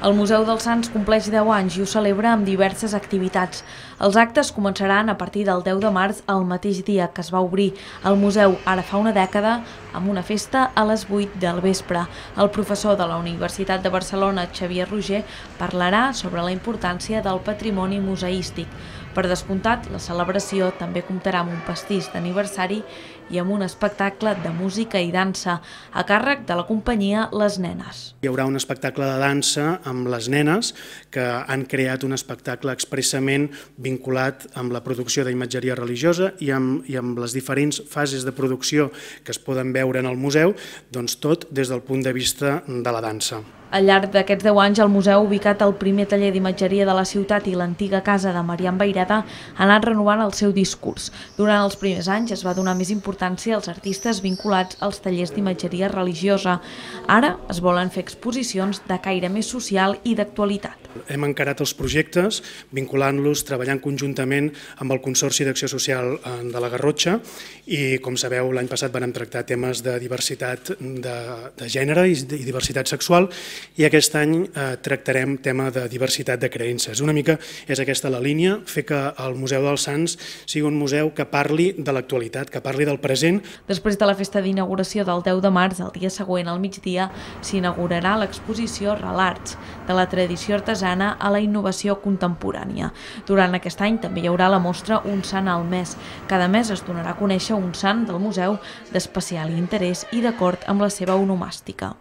El Museu dels Sants compleix 10 anys i ho celebra amb diverses activitats. Els actes començaran a partir del 10 de març, el mateix dia que es va obrir el museu ara fa una dècada, amb una festa a les 8 del vespre. El professor de la Universitat de Barcelona, Xavier Roger, parlarà sobre la importància del patrimoni museístic. Per descomptat, la celebració també comptarà amb un pastís d'aniversari i amb un espectacle de música i dansa a càrrec de la companyia Les Nenes. Hi haurà un espectacle de dansa amb les nenes que han creat un espectacle expressament vinculat amb la producció d'imatgeria religiosa i amb les diferents fases de producció que es poden veure en el museu, doncs tot des del punt de vista de la dansa. Al llarg d'aquests 10 anys, el museu ha ubicat el primer taller d'imatgeria de la ciutat i l'antiga casa de Marian Vayreda ha anat renovant el seu discurs. Durant els primers anys es va donar més importància als artistes vinculats als tallers d'imatgeria religiosa. Ara es volen fer exposicions de caire més social i d'actualitat. Hem encarat els projectes vinculant-los, treballant conjuntament amb el Consorci d'Acció Social de la Garrotxa i, com sabeu, l'any passat vam tractar temes de diversitat de gènere i diversitat sexual i aquest any tractarem tema de diversitat de creences. Una mica és aquesta la línia, fer que el Museu dels Sants sigui un museu que parli de l'actualitat, que parli del present. Després de la festa d'inauguració del 10 de març, el dia següent, al migdia, s'inaugurarà l'exposició Relats, de la tradició artesana a la innovació contemporània. Durant aquest any també hi haurà la mostra Un sant al mes. Cada mes es donarà a conèixer un sant del museu d'especial interès i d'acord amb la seva onomàstica.